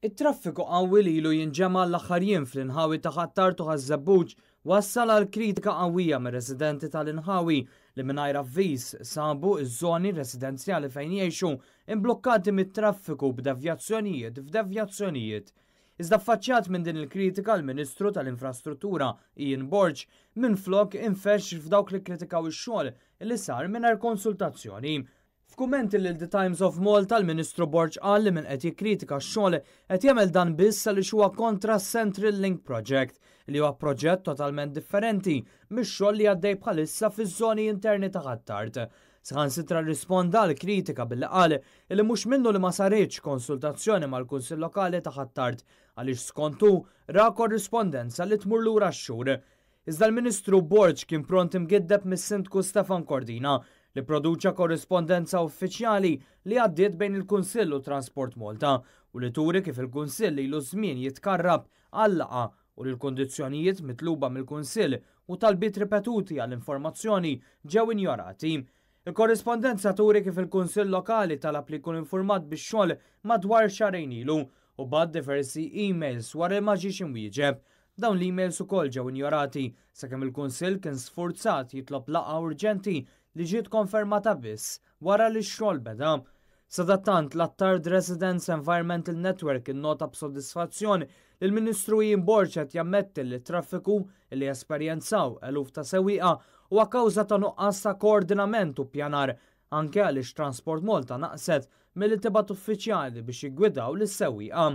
It-traffiku qawwi li ilu jinġema' l-aħħar jiem fl-inħawi ta' Ħ'Attard u Ħaż-Żebbuġ wassal għal kritika qawwija mir-residenti tal-inħawi li mingħajr avviż sabu ż-żoni residenzjali fejn jgħixu imblukkati mit-traffiku b'devjazzjonijiet f'devjazzjonijiet. Iżda affaċċjat minn din il-kritika l-Ministru tal-Infrastruttura Ian Borg minflok infexx f'dawk li kkritikaw ix-xogħol li sar mingħajr konsultazzjoni. F'kummenti lil The Times of Malta, l-Ministru Borg qal li min qed jikkritika x-xogħol qed jagħmel dan biss għaliex huwa kontra s-Central Link Project, li huwa proġett totalment differenti mix-xogħol li għaddej bħalissa fiż-żoni interni ta' Ħ'Attard. Saħansitra rrisponda għal kritika billi qal li mhux minnu li ma saritx konsultazzjoni mal-Kunsill Lokali ta' Ħ'Attard għaliex skont hu ra korrispondenza li tmur lura x-xhur. Iżda l-Ministru Borg kien pront imgiddeb mis-Sindku Stefan Cordina li pproduċa korrispondenza uffiċjali li għaddiet bejn il-Kunsill u Transport Malta u li turi kif il-Kunsill ilu żmien jitkarrab għal laqgħa u li l-kundizzjonijiet mitluba mill-Kunsill u talbiet ripetuti għal informazzjoni ġew injorati. Il-korrispondenza turi kif il-Kunsill Lokali talab li jkun infurmat bix-xogħol madwar xahrejn ilu u bagħat diversi emails wara li ma ġiex imwieġeb. Dawn l-emails ukoll ġew injorati sakemm il-Kunsill kien sfurzat jitlob laqgħa urġenti li ġiet konfermata biss wara li x-xogħol beda. Sadattant, l-Attard Residents Environmental Network innota b'sodisfazzjon li l-Ministru Ian Borg qed jammetti li t-traffiku li esperjenzaw eluf ta' sewwieqa huwa kawża ta' nuqqas ta' koordinament u ppjanar anke għaliex Transport Malta naqset milli tibgħat uffiċjali biex jiggwidaw lis-sewwieqa.